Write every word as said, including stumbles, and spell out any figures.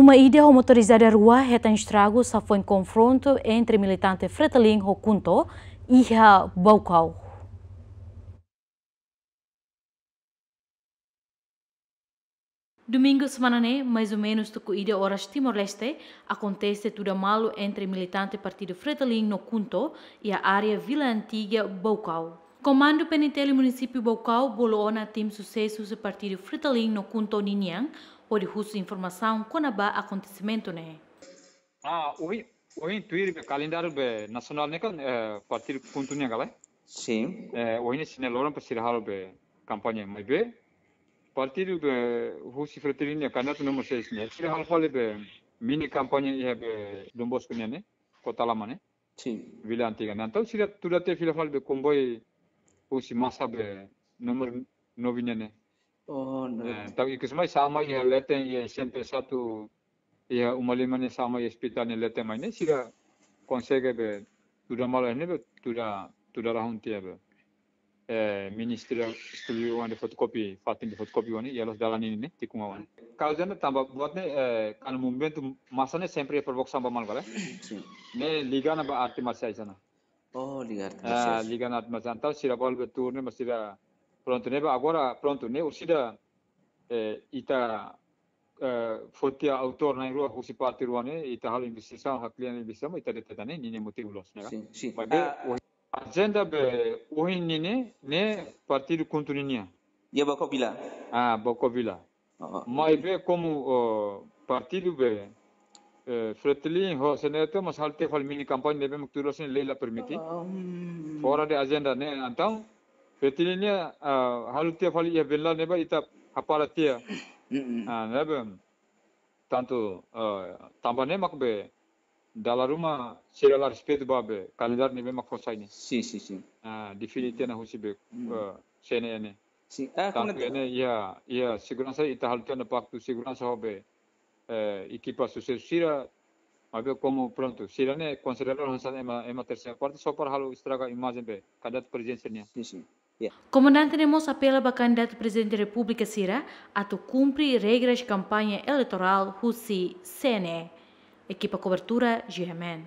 Uma ida ho motorizada rua hetan estragu safoin konfrontu entre militante Fretilin ho KHUNTO iha Baucau. Domingu semana ne'e, mais ou menus tuku ida oras Timor-Leste, akontese tuda malu entre militante partidu Fretilin no KHUNTO iha área Vila Antiga, Baucau. Komandu P N T L Munisípiu Baucau bolu ona tim susesu husi partidu Fretilin no KHUNTO ninian hodi husu informasaun kona-ba akontesimentu ne'e. Ah, ohin, ohin tuir be kalendáriu be nasionál ne'e kan, eh, partidu KHUNTO nian ka lae? Sin. Eh, ohin ne'e sira-nia loron para sira halo be kampaña, maibé partidu be husi Fretilin nian, kandidatu númeru seis ne'e, sira halo fali be mini kampaña iha be Don Bosco nian ne'e, Kota Lama ne'e. Sin. Vila Antiga. Entaun sira tuda tiha fila fali be komboiu husi masa be númeru nove nian ne'e. Oh, no. Eh, entaun ikus mai sa'e mai iha leten iha S M P satu iha uma lima ne'e, sa'e mai iha ospitál ne'e, leten mai ne'e, sira konsege be tuda malu ne'e be tuda, tuda rahun tiha be. Eh, ministra estúdiu oan de fotokopi, fatin de fotokopi oan ne'e, iha loos dalan ninin ne'e, tikun oan. Kauza ne'e tanba buat ne'e, eh, kan movimentu masa ne'e sempre provokasaun ba malu ka lae? Sin. Ne'e liga ona ba arte marsiais ona. Oh, liga arte marsiais. Ah, liga ona arte marsiais. Entaun sira balu be tuur ne'e, mas sira prontu ne'e, agora prontu ne'e, orsida, eh, ita, eh, foti autór na'in-rua husi parte rua ne'e, ita halo investigasaun, haklean investigasaun, ita deteta ne'e, ninin motivu loos ne'e ka? Sin, sin. Maibé, ah, ohin ajenda be ohin ninin ne'e, ne'e partidu KHUNTO ninian. Iha Baucau Vila. Ah, Baucau Vila. Oh. Maibé komu, oh, partidu be, eh, Fretilin ho CNE atu, mas halo tiha fali mini kampaña ne'ebé mak tuir loos ne'e lei la permite. Oh, hmm. Fora de ajenda ne'e, entaun Fretilin nian, ah, halo tiha fali iha Venlal ne'ebá ita hapara tiha. Mm-mm. Ah, ne'ebé tantu, ah, tanba ne'e mak be dala ruma sira la respeitu ba be kalendáriu ne'ebé mak fó sai ne'e. Sin, sin, sin. Ah, define tiha ona husi be, hmm, eh, CNE ne'e. Sin, ah, tantu kona ne'e iha, iha seguransa ita halo tiha ona paktu seguransa ho be, eh, ekipa susesu sira, maibé komu prontu, sira ne'e konsidera hanesan ema, ema terseira parte só para halo estraga imajen be kandidatu prezidente nian. Sin, sin. Ya. Komandante ne'e mós apela ba kandidatu Prezidente Repúblika sira atu kumpre regras kampaña eleitorál husi CNE. Ekipa kobertura, G M N.